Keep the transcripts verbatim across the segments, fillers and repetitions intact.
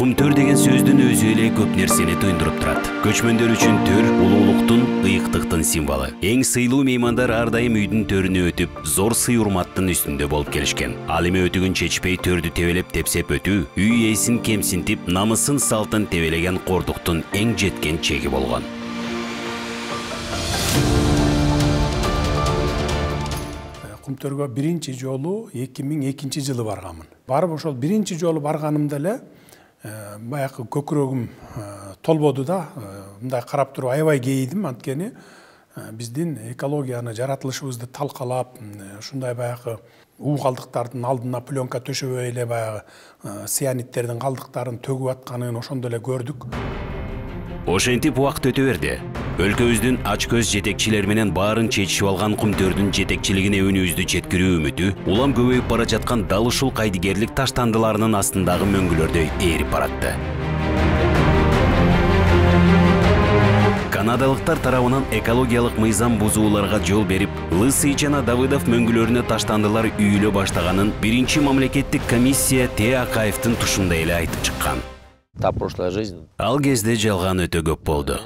Кумтөр деген сөздүн өзү эле көп нерсени туюндуруп турат. Көчмөндөр үчүн төр улуулуктун, ыйыктыктын символу. Эң сыйлуу меймандар ар дайым үйдүн төрүнө өтүп, зор сый-урматтын үстүндө болуп келишкен. Ал эми өтүгүн чечпей төрдү тебелеп тепсеп өтүү, үй ээсин кемсинтип, намысын салтын тебелеген кордуктун эң жеткен чеги болгон. Кумтөргө биринчи жолу эки миң экинчи жылы барганмын. Барып ошол биринчи жолу барганымда эле баягы көкүрөгүм толбоду да, мындай карап туруп аябай кейидим, анткени биздин экологияны, жаратылышыбызды талкалап, ушундай баягы уу калдыктардын алдына пленка төшөбөй эле баягы цианидтердин калдыктарын төгүп атканын ошондо эле көрдүк. Ошентип убакыт өтө берди. Өлкөбүздүн ач көз жетекчилер менен баарын чечишип алган Кумтөрдүн жетекчилигине өнүбүздү жеткирүү үмүтү улам көбөйүп бара жаткан дал ушул кайдыгерлик таштандыларынын астындагы мөңгүлөрдөй ээрип баратты. Канадалыктар тарабынан экологиялык мыйзам бузууларга жол берип, Лысый жана Давыдов мөңгүлөрүнө таштандылар үйүлө баштаганын биринчи мамлекеттик комиссия Т. Акаевдин тушунда эле айтып чыккан. Ал кезде жалган өтө көп болду.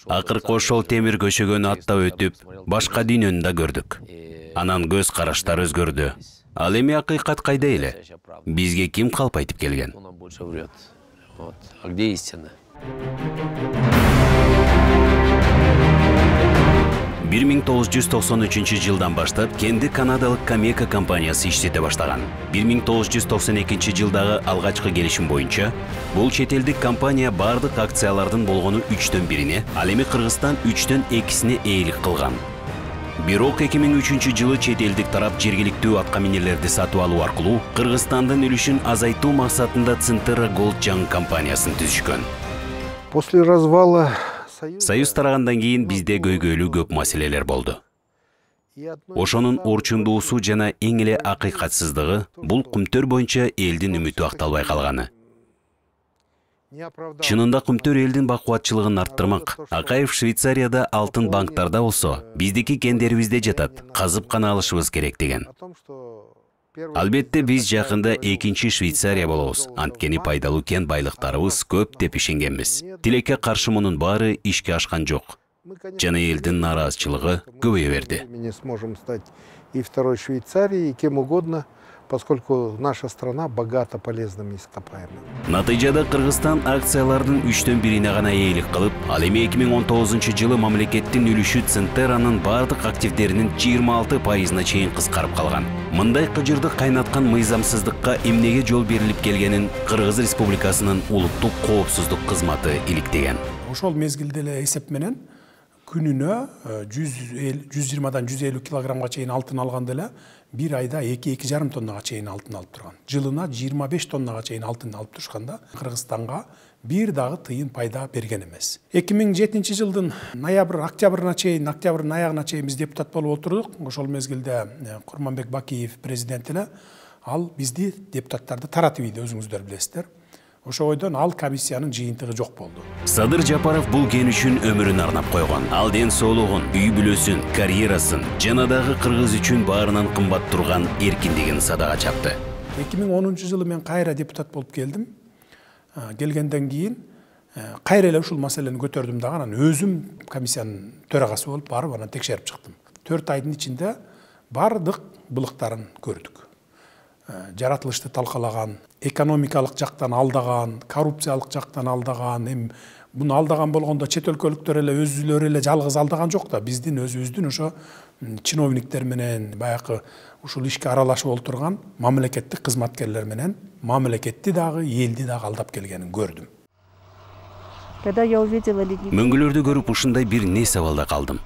Акыркы ошол темир көшөгөнү аттап өтүп, башка дүйнөнү да көрдүк. Анан көз караштар өзгөрдү. Ал эми акыйкат кайда эле? Бизге ким калп айтып келген? бир миң тогуз жүз токсон үчүнчү жылдан баштап кенди канадалык Камека компаниясы иштете баштаган. бир миң тогуз жүз токсон экинчи жылдагы алгачкы келишим боюнча, бул чет элдик компания бардык акциялардын болгону үчтөн бирине, ал эми Кыргызстан үчтөн экисине ээлик кылган. Бирок эки миң үчүнчү жылы чет элдик тарап жергиликтүү атка минерлерди сатып алуу аркылуу Кыргызстандын үлүшүн азайтуу максатында Центера Голд Young компаниясын түзүшкөн. После развала Союз тарагандан кийин бизде көйгөйлүү көп маселелер болду. Ошонун орчундуусу жана эң эле акыйкатсыздыгы бул Кумтөр боюнча элдин үмүтү акталбай калганы. Чынында Кумтөр элдин бакубатчылыгын арттырмак. Акаев Швейцарияда алтын банктарда болсо, биздики кендерибизде жатат, казып гана алышыбыз керек деген. Албетте биз жакында экинчи Швейцария болобуз, анткени пайдалуу кен байлыктарыбыз көп деп ишенгенбиз. Тилекке каршы мунун баары ишке ашкан жок. Жана элдин нааразычылыгы көбөйө берди. Мы не сможем стать и второй Швейцарией, и кем угодно, поскольку наша страна богата полезными ископаемыми. Натыйжада Кыргызстан акциялардын үчтөн бирине гана ээлик кылып, ал эми эки миң он тогузунчу жылы мамлекеттин үлүшү Центеранын бардык активдеринин жыйырма алты пайызына чейин кыскарып калган. Мындай кыжырды кайнаткан мыйзамсыздыкка эмнеге жол берилип келгенин Кыргыз Республикасынын улуттук коопсуздук кызматы иликтеген. Ошол мезгилде эле эсеп менен күнүнө жүз жыйырмадан жүз элүү килограммга чейин алтын алганда эле бир айда эки эки жарым тоннага чейин алтын алып турган. Жылына жыйырма беш тоннага чейин алтын алып турушканда Кыргызстанга бир дагы тыйын пайда берген эмес. эки миң жетинчи жылдын ноябрь, октябрына чейин, октябрдын аягына чейин биз депутат болуп отурдук. Ошол мезгилде Курманбек Бакиев президент эле, ал бизди депутаттарды таратып ийди, өзүңүздөр билесиздер. Ошо ойдон ал комиссиянын жыйынтыгы жок болду. Садыр Жапаров бул кен үчүн өмүрүн арнап койгон. Ал ден соолугун, үй бүлөсүн, карьерасын, жана дагы Кыргыз үчүн баарынан кымбат турган эркиндигин садага чапты. эки миң онунчу жылы мен кайра депутат болуп келдим. Келгенден кийин кайра эле ушул маселени көтөрдүм дагы, анан өзүм комиссиянын төрагасы болуп барып анан текшерип чыктым. төрт айдын ичинде бардык былыктарын көрдүк. Жаратылышты талкалаган, экономикалык жактан алдаган, коррупциялык жактан алдаган, эми буну алдаган болгондо чет өлкөлүктөр эле өзүлөрү эле жалгыз алдаган жок да, биздин өзүбүздүн ошо чиновниктер менен баягы ушул ишке аралашып олтурган мамлекеттик кызматкерлер менен мамлекетти дагы, элди дагы алдап келгенин көрдүм. Мөңгүлөрдү көрүп ушундай бир не сабалда калдым.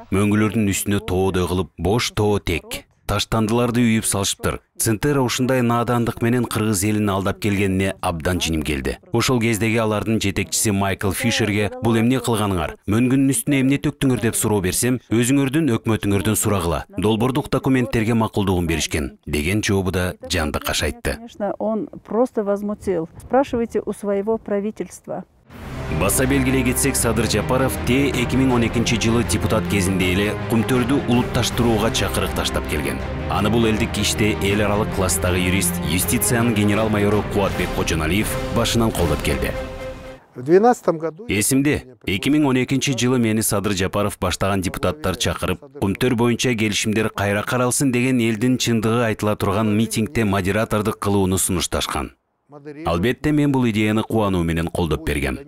Мөңгүлөрдүн үстүнө тоодой кылып бош тоо тек таштандыларды үйүп салышыптыр. Центера ушундай наадандык менен Кыргыз элин алдап келгенине абдан жиним келди. Ошол кездеги алардын жетекчиси Майкл Фишерге бул эмне кылганыңар, мөңгүнүн үстүнө эмне төктүңөр деп суроо берсем, өзүңөрдүн өкмөтүңөрдөн сурагыла, долбоордук документтерге макулдугун беришкен деген жообу да жанды кашайтты. Конечно, он просто возмутил. Спрашивайте у своего правительства. Баса белгилей кетсек, Садыр Жапаров те эки миң он экинчи жылы депутат кезинде эле Кумтөрдү улутташтырууга чакырык таштап келген. Аны бул элдик иште эл аралык класстагы юрист, юстициянын генерал-майору Кубатбек Кожоналиев башынан колдоп келди. В две тысячи двенадцатом году Эсимде, эки миң он экинчи жылы мени Садыр Жапаров баштаган депутаттар чакырып, Кумтөр боюнча келишимдер кайра каралсын деген элдин чындыгы айтыла турган митингде модератордук кылууну сунушташкан. Албетте мен бул идеяны кубануу менен колдоп бергем.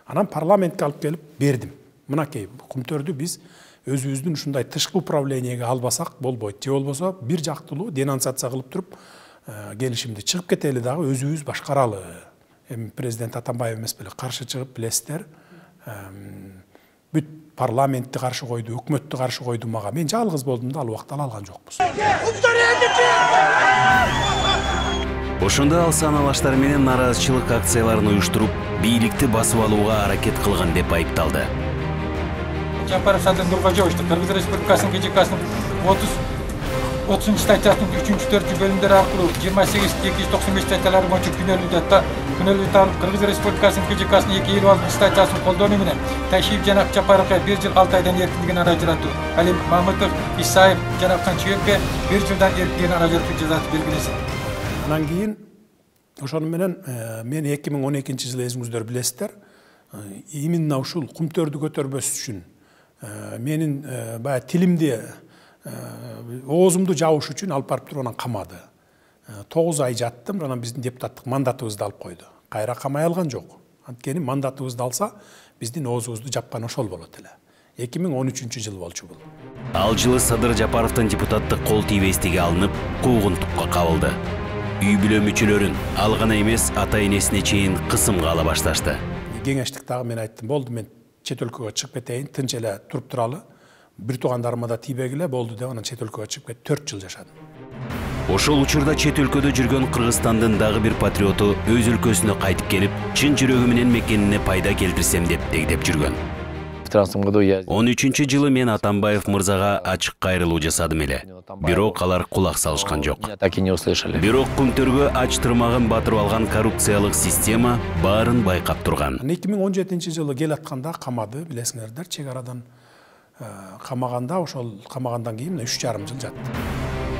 Анан парламентке алып келип бердим. Мынакей Кумтөрдү биз өзүбүздүн ушундай тышкы управлениеге албасак болбойт. Же болбосо бир жактылуу денонсация кылып туруп, келишимди чыгып кетели дагы өзүбүз башкаралы. Эми президент Атамбаев эмес беле каршы чыгып билесиздер. Бүт парламентти каршы койду, өкмөттү каршы койду мага. Мен жалгыз болдум да ал убакта ала алган жокпуз. Ошондо ал саналаштар менен нааразычылык акцияларын уюштуруп, бийликти басып алууга аракет кылган деп айыпталды. Жапаров Садыр Нуркожоевичти Кыргыз Республикасынын КЖКсынын отузунчу статьясынын үчүнчү төртүнчү бөлүмдөрү аркылуу жыйырма сегиз эки жүз токсон беш статьялары боюнча күнөөлүү күнөөлүү табылып, Кыргыз Республикасынын КЖКсынын эки жүз элүү алтынчы статьясын колдонуу менен Ташиев жана Жапаровго бир жыл алты айдан эркиндигин ажыратуу, ал эми Мамытов, Исаев жана Канчыбекке бир жылдан эркиндигин ажыратуу жазасы белгилесин. Анан кийин ошону менен мен эки миң он экинчи жылы эсиңиздер билесиздер, именно ушул Кумтөрдү көтөрбөс үчүн менин баягы тилимди оозумду жабыш үчүн алып барып туруп анан камады. тогуз ай жаттым, анан биздин депутаттык мандатыбызды алып койду. Кайра камай алган жок. Анткени мандатыбызды алса, биздин оозубузду жапкан ошол болот эле. эки миң он үчүнчү жыл болчу бул. Ал жылы Садыр Жапаровдун депутаттык кол тийбестиги алынып, куугунтукка кабылды. Үй бүлө мүчөлөрүн, ал гана эмес, ата-энесине чейин кысымга ала башташты. Кеңештикте мен айттым, болду, мен чет өлкөгө чыгып кетейин, тынч эле туруп туралы. Бир туугандарыма да тийбегиле болду деп анан чет өлкөгө чыгып кетип төрт жыл жашадым. Ошол учурда чет өлкөдө жүргөн Кыргызстандын дагы бир патриоту өз өлкөсүнө кайтып келип, чын жүрөгү менен мекенине пайда келтирсем деп дегдеп жүргөн. он үчүнчү жылы мен Атамбаев мырзага ачык кайрылуу жасадым эле. Бирок алар кулак салышкан жок. Бирок Кумтөргө ач тырмагын батырып алган коррупциялык система баарын байкап турган. эки миң он жетинчи жылы кел атканда камады, билесиңердер, чек арадан камаганда, ошол камагандан кийин үч жарым жыл жаттым.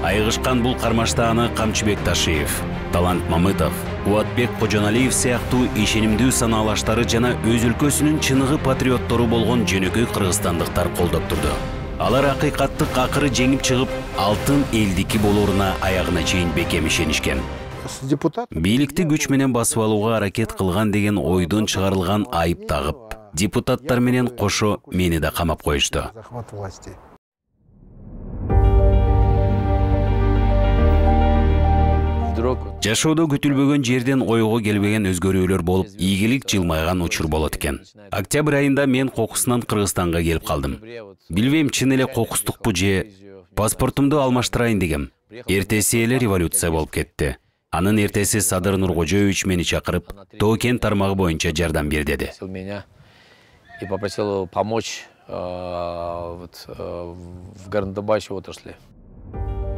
Айгышкан бул кармашта аны Камчыбек Ташиев, Талант Мамытов, Кубатбек Кожоналиев сыяктуу ишенимдүү санаалаштары жана өз өлкөсүнүн чыныгы патриоттору болгон жөнөкөй кыргызстандыктар колдоп турду. Алар акыйкаттык акыры жеңип чыгып, алтын элдики болоруна аягына чейин бекем ишенишкен. Бийликти күч менен басып алууга аракет кылган деген ойдон чыгарылган айып тагып, депутаттар менен кошо мени да камап коюшту. Жашоодо күтүлбөгөн жерден ойго келбеген өзгөрүүлөр болуп, ийгилик жылмайган учур болот экен. Октябрь айында мен кокусунан Кыргызстанга келип калдым. Билбейм, чын эле кокустукпу же паспортумду алмаштырайын дегем. Эртеси эле революция болуп кетти. Анын эртеси Садыр Нуркожоевич мени чакырып, Тоо-Кен тармагы боюнча жардам бер деди. И попросил помочь в горнодобывающей отрасли.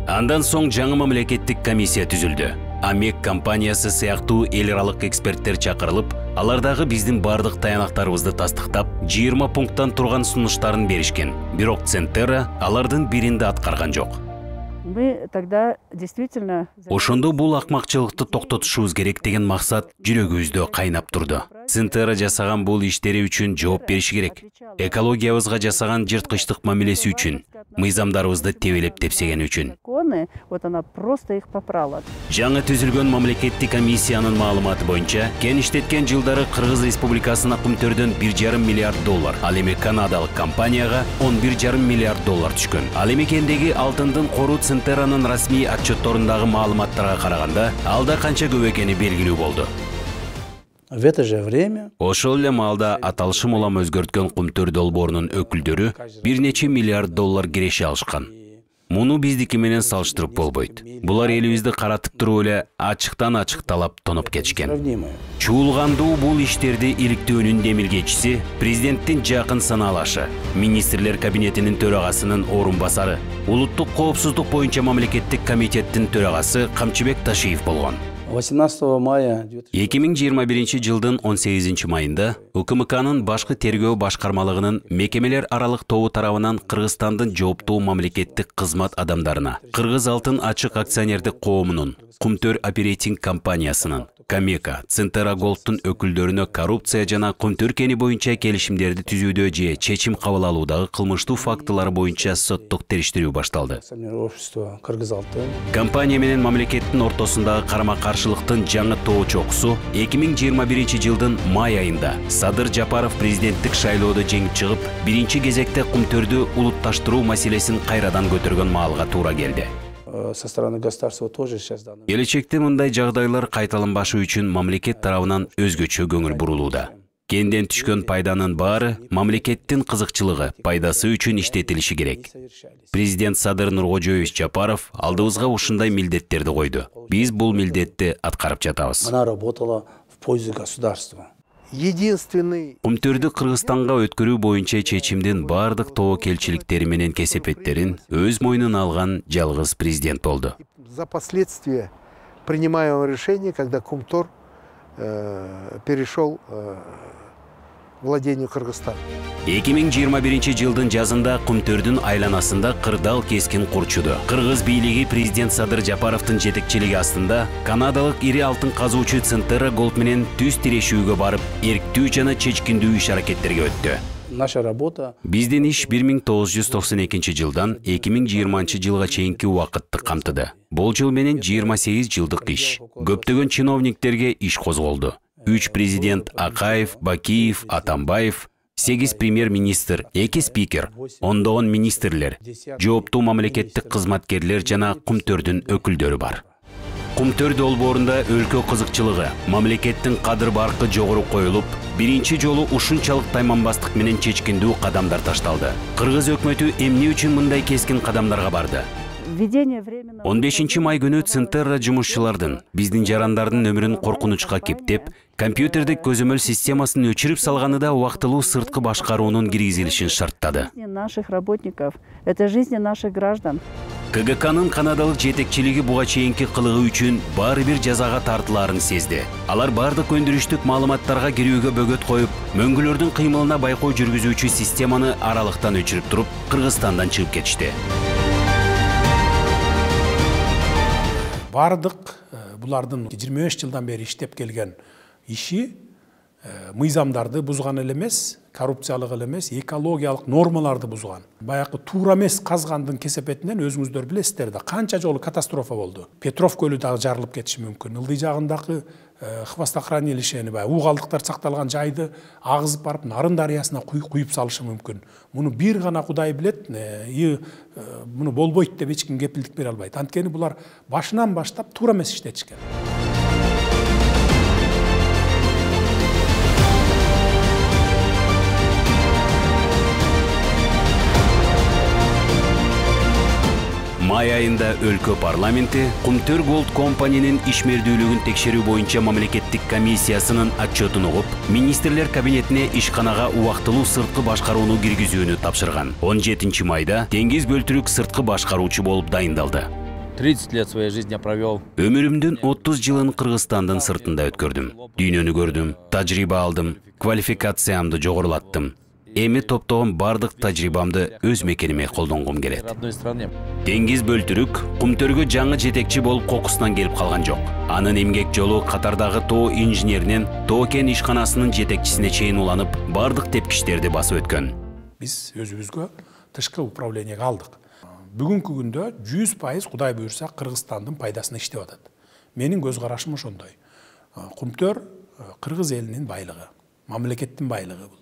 Андан соң жаңы мамлекеттик комиссия түзүлдү. АМЕК компаниясы сыяктуу эл аралык эксперттер чакырылып, алардагы биздин бардык таянактарыбызды тастыктап, жыйырма пункттан турган сунуштарын беришкен. Бирок Центерра алардын биринде аткарган жок. Мы тогда действительно... Ошондо бул акмакчылыкты токтотушубуз керек деген максат жүрөгүбүздө кайнап турду. Центерра жасаган бул иштери үчүн жооп бериши керек. Экологиябызга жасаган жырткычтык мамилеси үчүн, мыйзамдарыбызды тебелеп тепсеген үчүн. Вот она просто их попрала. Жаңы түзүлгөн мамлекеттик комиссиянын маалыматы боюнча, кен иштеткен жылдары Кыргыз Республикасына Кумтөрдөн бир жарым миллиард доллар, ал эми канадалык компанияга он бир жарым миллиард доллар түшкөн. Ал эми кендеги алтындын кору Центерранын расмий отчетторундагы маалыматтарга караганда, алда канча көп экени белгилүү болду. В это же время ошол эле маалда аталышым улам өзгөрткөн Кумтөр долбоорунун өкүлдөрү бир нече миллиард доллар киреше алышкан. Муну биздики менен салыштырып болбойт. Булар элибизди каратып туруп эле ачыктан ачык талап тоноп кетишкен. Чуулгандуу бул иштерди иликтөөнүн демилгечиси президенттин жакын санаалашы, министрлер кабинетинин төрагасынын орун басары, улуттук коопсуздук боюнча мамлекеттик комитеттин төрагасы Камчыбек Ташиев болгон. восемнадцатого мая эки миң жыйырма биринчи жылдын он сегизинчи майында УКМКнын башкы тергөө башкармалыгынын мекемелер аралык тобу тарабынан Кыргызстандын жооптуу мамлекеттик кызмат адамдарына, Кыргыз алтын ачык акционердик коомунун, Кумтөр оперейтинг компаниясынын, Камека, Центера Голдтун өкүлдөрүнө коррупция жана Кумтөр кени боюнча келишимдерди түзүүдө же чечим кабыл алуудагы кылмыштуу фактылар боюнча соттук териштирүү башталды. общества Кыргыз алтын Компания менен мамлекеттин ортосундагы карама-каршылыктын жаңы тоо чокусу эки миң жыйырма биринчи жылдын май айында Садыр Жапаров президенттик шайлоодо жеңип чыгып, биринчи кезекте Кумтөрдү улутташтыруу маселесин кайрадан көтөргөн маалга туура келди. со стороны государства тоже сейчас данный. Келечекте мындай жагдайлар кайталанбашы үчүн мамлекет тарабынан өзгөчө көңүл бурулууда. Кенден түшкөн пайданын баары мамлекеттин кызыкчылыгы, пайдасы үчүн иштетилиши керек. Президент Садыр Нуркожоевич Жапаров алдыбызга ушундай милдеттерди койду. Биз бул милдетти аткарып жатабыз. Она работала в пользу государства. Единственный... Кумтөрдү Кыргызстанга өткөрүү боюнча чечимдин бардык тобокелчиликтери менен кесепеттерин өз мойнуна алган жалгыз президент болду. За последствия принимаемого решения, когда Кумтор э, перешел э, владению Кыргызстана. эки миң жыйырма биринчи жылдын жазында Кумтөрдүн айланасында кырдаал кескин курчуду. Кыргыз бийлиги президент Садыр Жапаровдун жетекчилиги астында канадалык ири алтын казуучу Центера Голд менен түз тирешүүгө барып, эрктүү жана чечкиндүү иш-аракеттерге өттү. Наша работа. Биздин иш бир миң тогуз жүз токсон экинчи жылдан эки миң жыйырманчы жылга чейинки убакытты камтыды. Бул жыл менен жыйырма сегиз жылдык иш. Көптөгөн чиновниктерге иш козголду. үч президент Акаев, Бакиев, Атамбаев, сегиз премьер-министр, эки спикер, ондогон министрлер, жооптуу мамлекеттик кызматкерлер жана Кумтөрдүн өкүлдөрү бар. Кумтөр долбоорунда өлкө кызыкчылыгы, мамлекеттин кадыр баркы жогору коюлуп, биринчи жолу ушунчалык тайманбастык менен чечкиндүү кадамдар ташталды. Кыргыз өкмөтү эмне үчүн мындай кескин кадамдарга барды? он бешинчи май күнү Центерра жумушчулардын, биздин жарандардын өмүрүн коркунучка кептеп, компьютердик көзөмөл системасын өчүрүп салганында убактылуу сырткы башкаруунун киргизилишин шарттады. Наших работников, это жизни наших граждан. КГКнын канадалык жетекчилиги буга чейинки кылыгы үчүн баары бир жазага тартылаарын сезди. Алар бардык өндүрүштүк маалыматтарга кирүүгө бөгөт коюп, мөңгүлөрдүн кыймылына байкоо жүргүзүүчү системаны аралыктан өчүрүп туруп, Кыргызстандан чыгып кетишти. Бардык булардын жыйырма беш жылдан бери иштеп келген иши мыйзамдарды бузган эле эмес, коррупциялык эле эмес, экологиялык нормаларды бузган. Баягы туура эмес казгандын кесепетинен өзүңүздөр билесиздер да, канча жолу катастрофа болду. Петров көлү дагы жарылып кетиши мүмкүн. Ылдый жагындагы хвостохранилищени, баягы уу калдыктар сакталган жайды агызып барып Нарын дарыясына куюп салышы мүмкүн. Муну бир гана Кудай билет, муну болбойт деп эч ким кепилдик бере албайт. Анткени булар башынан баштап туура эмес иштетишкен. Май айында өлкө парламенти Кумтөр Голд компаниянын ишмердүүлүгүн текшерүү боюнча мамлекеттик комиссиясынын отчетун угуп, министрлер кабинетине ишканага убактылуу сырткы башкарууну киргизүүнү тапшырган. он жетинчи майда Теңиз Бөлтүрүк сырткы башкаруучу болуп дайындалды. тридцать лет своей жизни провел. Өмүрүмдүн отуз жылын Кыргызстандын сыртында өткөрдүм. Дүйнөнү көрдүм, тажрыйба алдым, квалификациямды жогорулаттым. Эми топтогон бардык тажрыйбамды өз мекениме колдонгум келет. Теңиз Бөлтүрүк Кумтөргө жаңы жетекчи болуп кокусунан келип калган жок. Анын эмгек жолу катардагы тоо инженеринен тоо кен ишканасынын жетекчисине чейин уланып, бардык тепкичтерди басып өткөн. Биз өзүбүзгө тышкы управлениеге алдык. Бүгүнкү күндө жүз пайыз Кудай буйрса Кыргызстандын пайдасына иштеп атат. Менин көз карашым ошондой. Кумтөр Кыргыз элинин байлыгы, мамлекеттин байлыгы бул.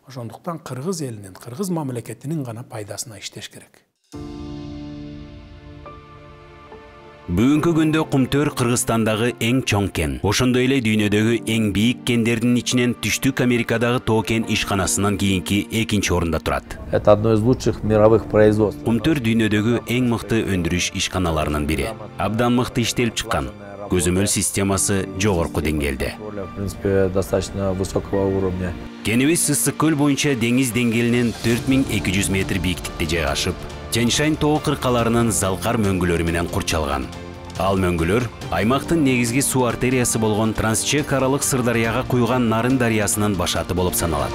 Ошондуктан Кыргыз элинин, Кыргыз мамлекетинин гана пайдасына иштеш керек. Бүгүнкү күндө Кумтөр Кыргызстандагы эң чоң кен. Ошондой эле дүйнөдөгү эң бийик кендердин ичинен Түштүк Америкадагы тоо кен ишканасынан кийинки экинчи орунда турат. Это одно из лучших мировых производств. Кумтөр дүйнөдөгү эң мыкты өндүрүш ишканаларынын бири. Абдан мыкты иштелип чыккан. Көзөмөл системасы жогорку деңгээлде. В принципе, достаточно высокого уровня. Кенибиз Ысык көл боюнча деңиз деңгээлинен төрт миң эки жүз метр бийиктикте жайгашып, Тяньшань тоо кыркаларынын залкар мөңгүлөрү менен курчалган. Ал мөңгүлөр аймактын негизги суу артериясы болгон Трансчек аралык Сырдарыяга куйган Нарын дарыясынын башаты болуп саналат.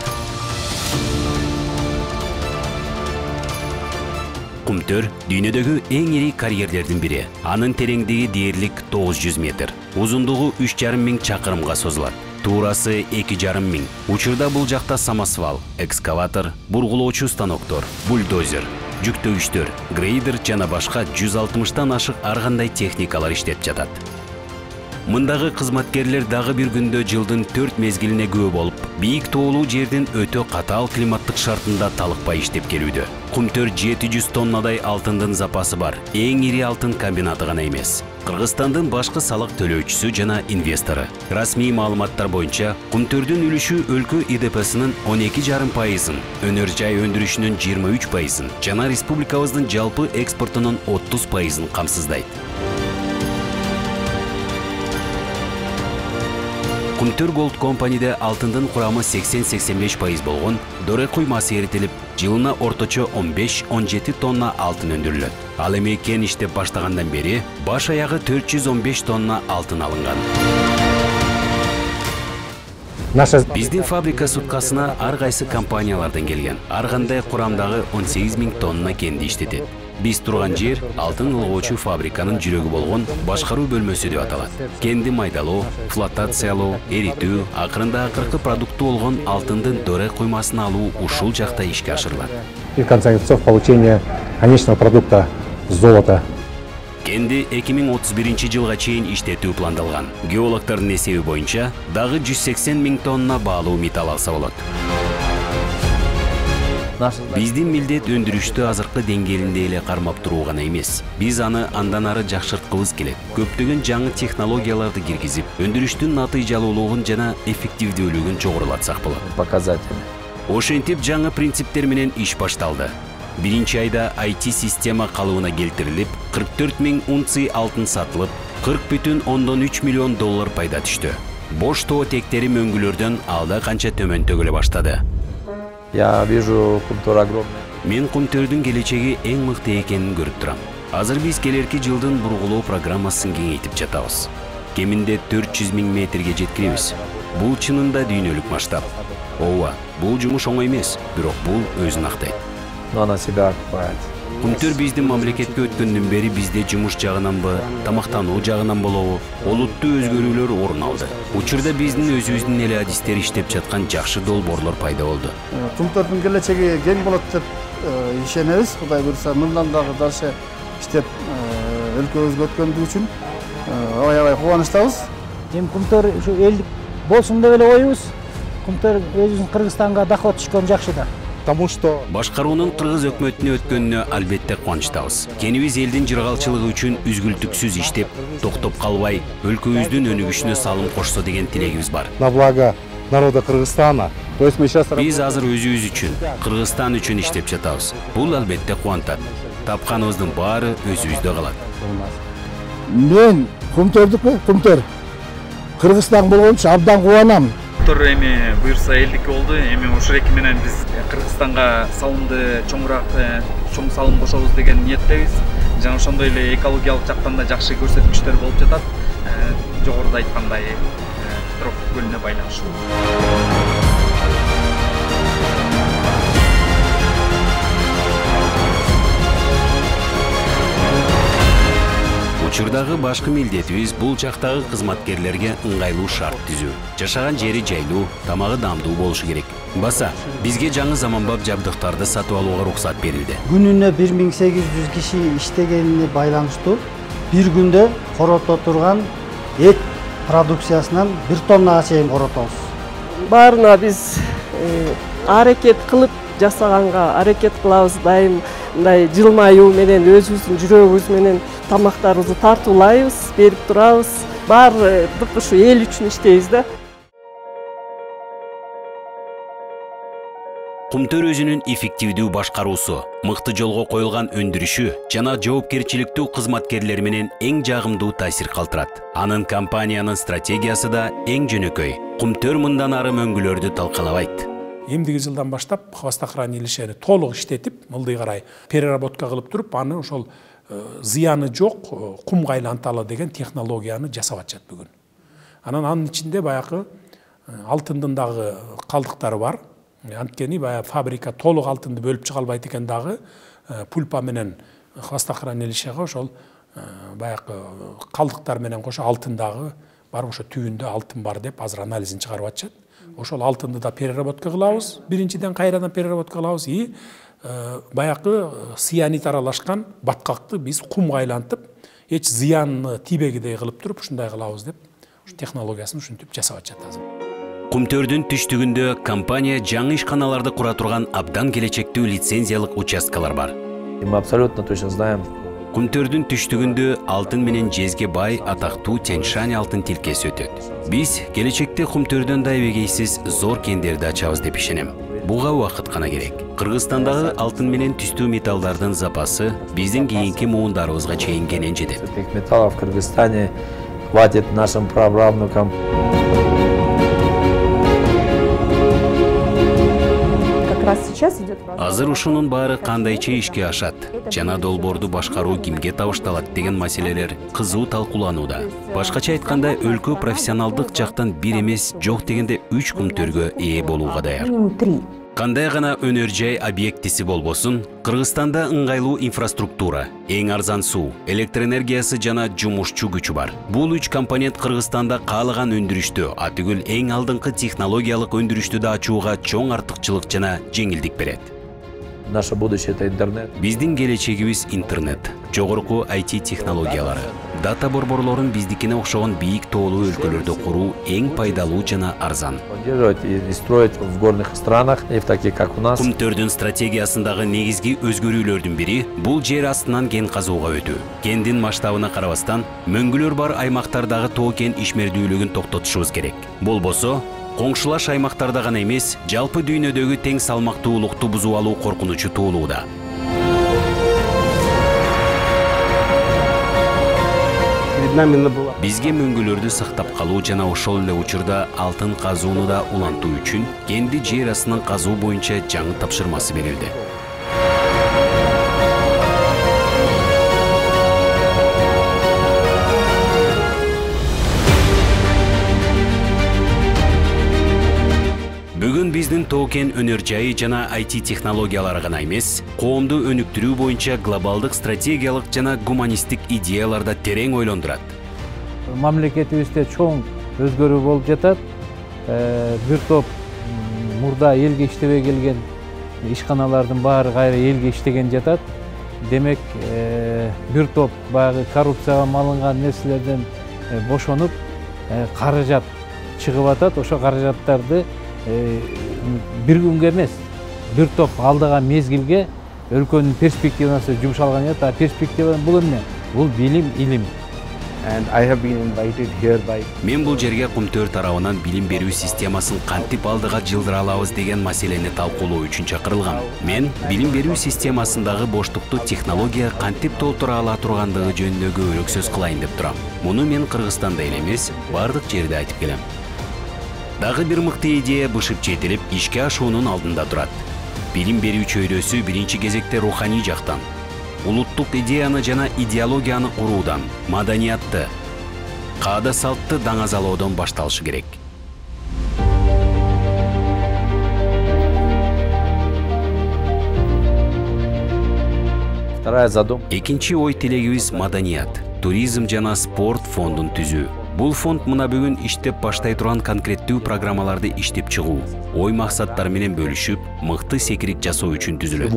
Кумтөр дүйнөдөгү эң ири карьерлердин бири. Анын тереңдиги дээрлик тогуз жүз метр, узундугу үч жарым миң чакырымга созулат. Туурасы эки жарым миң. Учурда бул жакта самосвал, экскаватор, бургулоочу станоктор, бульдозер, жүктөгүчтөр, грейдер жана башка жүз алтымыштан ашык ар кандай техникалар иштеп жатат. Мындагы кызматкерлер дагы бир күндө жылдын төрт мезгилине күбө болуп, бийик тоолуу жердин өтө катаал климаттык шартында талыкпай иштеп келүүдө. Кумтөр жети жүз тоннадай алтындын запасы бар, эң ири алтын комбинаты гана эмес. Кыргызстандын башкы салык төлөөчүсү жана инвестору. Расмий маалыматтар боюнча, Кумтөрдүн үлүшү өлкө И Д П'синин он эки жарым пайызын, өнөр жай өндүрүшүнүн жыйырма үч пайызын жана республикабыздын жалпы экспортунун отуз пайызын камсыздайт. Кумтөр Gold Company'де алтындын курамы сексен сексен беш пайыз болгон, дore куймасы эритилип, жылына орточо он беш он жети тонна алтын өндүрүлөт. Ал эми кен иштеп баштагандан бери баш аягы төрт жүз он беш тонна алтын алынган. Биздин фабрика суткасына ар кайсы компаниялардан келген. Ар кандай курамдагы он сегиз миң тонна кенди иштетет. Биз турган жер алтын ылгоочу фабриканын жүрөгү болгон башкаруу бөлмөсү деп аталат. Кенди майдалоо, флотациялоо, эритүү, акырында акыркы продукты болгон алтындын дore куймасын алуу ушул жакта ишке ашырылат. И в конце концов получение конечного продукта золота. Кенди эки миң отуз биринчи жылга чейин иштетүү пландалган. Геологдордун эсеби боюнча дагы жүз сексен миң тонна баалуу металл алса болот. Биздин милдет өндүрүштү азыркы деңгээлинде эле кармап туруу гана эмес. Биз аны андан ары жакшырткыбыз келет. Көптөгөн жаңы технологияларды киргизип, өндүрүштүн натыйжалуулугун жана эффективдүүлүгүн жогорулатсак болот. Показатели. Ошентип жаңы принциптер менен иш башталды. Биринчи айда ай ти система калыбына келтирилип, кырк төрт миң унций алтын сатылып, кырк бүтүн ондон үч миллион доллар пайда түштү. Бош тоо тектери мөңгүлөрдөн алда канча төмөн төгүлө баштады. Я вижу Кумтөр огромный. Мен Кумтөрдүн келечеги эң мыкты экенин көрүп турам. Азыр биз келерки жылдын бургулоо программасын кеңейтип жатабыз. Кеминде төрт жүз миң метрге жеткиребиз. Бул чынында дүйнөлүк масштаб. Ооба, бул жумуш оңой эмес, бирок бул өзүн актайт. Но она себя окупает. Кумтөр биздин мамлекетке өткөндөн бери бизде жумуш жагынанбы, тамактануу жагынан болобу, олуттуу өзгөрүүлөр орун алды. Учурда биздин өзүбүздүн эле адистер иштеп жаткан жакшы долбоорлор пайда болду. Кумтөрдүн келечеги кең болот деп ишенебиз. Кудай буйрса, мындан дагы дальше иштеп өлкөбүзгө өткөндүгү үчүн аябай кубанычтабыз. Эми Кумтөр ушу элдик болсун деп эле коебуз. Кумтөр өзүбүздүн Кыргызстанга доход түшкөн жакшы да. Потому что башкаруунун кыргыз өкмөтүнө өткөнүнө албетте кубанычтабыз. Кенибиз элдин жыргалчылыгы үчүн үзгүлтүксүз иштеп, токтоп калбай, өлкөбүздүн өнүгүшүнө салым кошсо деген тилегибиз бар. на благо народа Кыргызстана. То есть мы сейчас Биз азыр өзүбүз үчүн, Кыргызстан үчүн иштеп жатабыз. Бул албетте кубантат. Тапканыбыздын баары өзүбүздө калат. Мен Кумтөрдүкпү, Кумтөр. Кыргызстан болгончо абдан кубанам. Кумтөр эми буйрса элдик болду. Эми ушул эки менен биз Кыргызстанга салымды чоңураак, чоң салым кошобуз деген ниеттебиз. Жана ошондой эле экологиялык жактан да жакшы көрсөткүчтөр болуп жатат. Жогоруда айткандай, Петров көлүнө байланыштуу. Учурдагы башкы милдетибиз бул жактагы кызматкерлерге ыңгайлуу шарт түзүү. Жашаган жери жайлуу, тамагы даамдуу болушу керек. Баса, бизге жаңы заманбап жабдыктарды сатып алууга уруксат берилди. Күнүнө бир миң сегиз жүз киши иштегенине байланыштуу бир күндө корото турган эт продукциясынан бир тоннага чейин коротобуз. Баарына биз аракет кылып жасаганга аракет кылабыз. Дайым мындай жылмаюу менен өзүбүздүн жүрөгүбүз менен тамактарыбызды тартуулайбыз, берип турабыз. Баардык ушу эл үчүн иштейбиз да. Кумтөр өзүнүн эффективдүү башкаруусу, мыкты жолго коюлган өндүрүшү жана жоопкерчиликтүү кызматкерлери менен эң жагымдуу таасир калтырат. Анын компаниянын стратегиясы да эң жөнөкөй. Кумтөр мындан ары мөңгүлөрдү талкалабайт. Эмдиги жылдан баштап хвостохранилищени толук иштетип, мылдый карай переработка кылып туруп, аны ошол зыяны жок кумга айланталы деген технологияны жасап атышат бүгүн. Анан анын ичинде баягы алтындын дагы калдыктары бар. Анткени баягы фабрика толук алтынды бөлүп чыга албайт экен дагы пульпа менен хвостохранилищеге ошол баягы калдыктар менен кошо алтындагы бар, ошо түбүндө алтын бар деп азыр анализин чыгарып атышат. Ошол алтынды да переработка кылабыз, биринчиден кайрадан переработка кылабыз и баягы цианид аралашкан баткакты биз кумга айлантып, эч зыяны тийбегидей кылып туруп ушундай кылабыз деп технологиясын ушинтип жасап атышат азыр. Кумтөрдүн түштүгүндө компания жаңы ишканаларды кура турган абдан келечектүү лицензиялык участкалар бар. Мы абсолютно точно знаем. Кумтөрдүн түштүгүндө алтын менен жезге бай атактуу Тянь-Шань алтын тилкеси өтөт. Биз келечекте Кумтөрдөн да эбегейсиз зор кендерди ачабыз деп ишенем. Буга убакыт гана керек. Кыргызстандагы алтын менен түстүү металлдардын запасы биздин кийинки муундарыбызга чейин кенен жетет. Этих металлов в Кыргызстане хватит нашим праправнукам. Азыр ушунун баары кандайча ишке ашат, жана долбоорду башкаруу кимге табышталат деген маселелер кызуу талкууланууда. Башкача айтканда, өлкө профессионалдык жактан бир эмес, жок дегенде үч кумтөргө ээ болууга даяр. Кандай гана өнөр жай объектиси болбосун, Кыргызстанда ыңгайлуу инфраструктура, эң арзан суу, электр энергиясы жана жумушчу күчү бар. Бул үч компонент Кыргызстанда каалаган өндүрүштү, атүгүл эң алдыңкы технологиялык өндүрүштү да ачууга чоң артыкчылык жана жеңилдик берет. Наше будущее это интернет. Биздин келечегибиз интернет, жогорку ай ти технологиялары. Дата борборлорун биздикине окшогон бийик тоолуу өлкөлөрдө куруу эң пайдалуу жана арзан. Поддерживать и строить в горных странах, и в таких как у нас. Кумтөрдүн стратегиясындагы негизги өзгөрүүлөрдүн бири бул жер астынан кен казууга өтүү. Кендин масштабына карабастан, мөңгүлөр бар аймактардагы тоо кен ишмердүүлүгүн токтотушубуз керек. Болбосо, коңшулаш аймактарда гана эмес, жалпы дүйнөдөгү тең салмактуулукту бузуп алуу коркунучу туулууда. Бизге мөңгүлөрдү сактап калуу жана ошол эле учурда алтын казууну да улантуу үчүн кенди жер астынан казуу боюнча жаңы тапшырмасы берилди. Бүгүн биздин тоо кен өнөр жайы жана ай ти технологиялары гана эмес, коомду өнүктүрүү боюнча глобалдык стратегиялык жана гуманисттик идеяларда терең ойлондурат. Мамлекетибизде чоң өзгөрүү болуп жатат. Бир топ мурда элге иштебей келген ишканалардын баары кайра элге иштеген жатат. Демек, бир топ баягы коррупцияга малынган нерселерден бошонуп, каражат чыгып атат. Ошо каражаттарды бир күнгө эмес, бир топ алдаган мезгилге өлкөнүн перспективасы жумшалган жатат. А перспектива бул эмне? Бул билим, илим. Мен бул жерге Кумтөр тарабынан билим берүү системасын кантип алдыга жылдыра алабыз деген маселени талкуулоо үчүн чакырылгам. Мен билим берүү системасындагы боштукту технология кантип толтура ала тургандыгы жөнүндө көбүрөөк сөз кылайын деп турам. Муну мен Кыргызстанда эле эмес, бардык жерде айтып келем. Дагы бир мыкты идея бышып жетилип, ишке ашуунун алдында турат. Билим берүү чөйрөсү биринчи кезекте руханий жактан, улуттук идеяны жана идеологияны куруудан, маданиятты, каада салтты даңазалоодон башталышы керек. Экинчи ой тилегибиз маданият, туризм жана спорт фондун түзүү. Бул фонд мына бүгүн иштеп баштай турган конкреттүү программаларды иштеп чыгуу, ой максаттары менен бөлүшүп, мыкты секирик жасоо үчүн түзүлөт.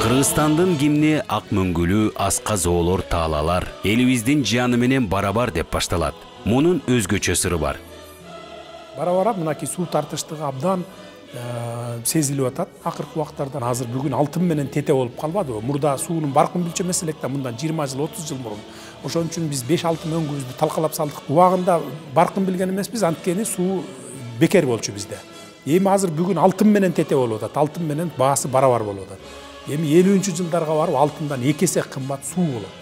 Кыргызстандын гимни ак мөңгүлүү, аска зоолор, таалалар элибиздин жаны менен барабар деп башталат. Мунун өзгөчө сыры бар. Бара-бара мынакей суу тартыштыгы абдан сезилип атат. Акыркы убактардан азыр бүгүн алтын менен тете болуп калбадыбы? Мурда суунун баркын билчемес элек да, мындан жыйырма жыл, отуз жыл мурун. Ошон үчүн биз беш алты мөңгүбүздү талкалап салдык. Убагында баркын билген эмеспиз, анткени суу бекер болчу бизде. Эми азыр бүгүн алтын менен тете болуп атат. Алтын менен баасы барабар болуп атат. Эми элүүнчү жылдарга барып алтындан эки эсе кымбат суу болот.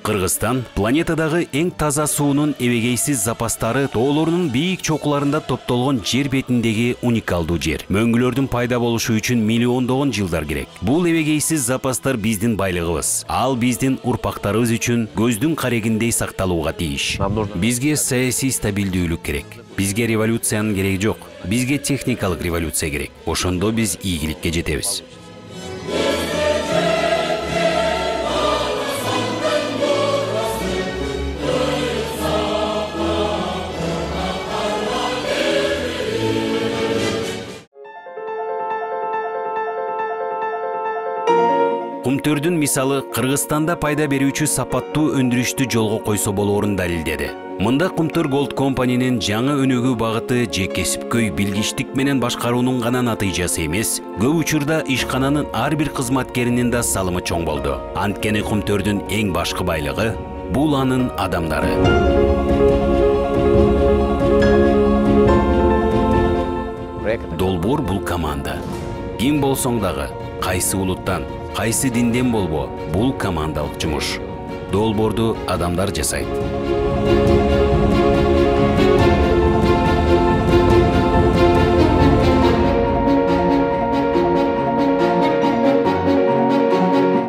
Кыргызстан планетадагы эң таза суунун эбегейсиз запастары тоолорунун бийик чокуларында топтолгон жер бетиндеги уникалдуу жер. Мөңгүлөрдүн пайда болушу үчүн миллиондогон жылдар керек. Бул эбегейсиз запастар биздин байлыгыбыз. Ал биздин урпактарыбыз үчүн көздүн карегиндей сакталууга тийиш. Бизге саясий стабилдүүлүк керек. Бизге революциянын кереги жок. Бизге техникалык революция керек. Ошондо биз ийгиликке жетебиз. Кумтөрдүн мисалы Кыргызстанда пайда берүүчү сапаттуу өндүрүштү жолго койсо болоорун далилдеди. Мында Кумтөр Gold Company'нин жаңы өнүгүү багыты же кесипкөй билгичтик менен башкаруунун гана натыйжасы эмес, көп учурда ишкананын ар бир кызматкеринин да салымы чоң болду. Анткени Кумтөрдүн эң башкы байлыгы бул анын адамдары. Долбоор бул команда. Ким болсоң дагы, кайсы улуттан, кайсы динден болбо, бул командалык жумуш. Долбоорду адамдар жасайт.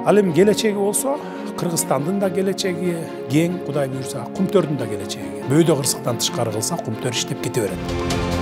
Ал эми келечеги болсо, Кыргызстандын да келечеги кең, Кудай буйрса, Кумтөрдүн да келечеги. Бөөдө кырсыктан тышкары кылса, Кумтөр иштеп кете берет.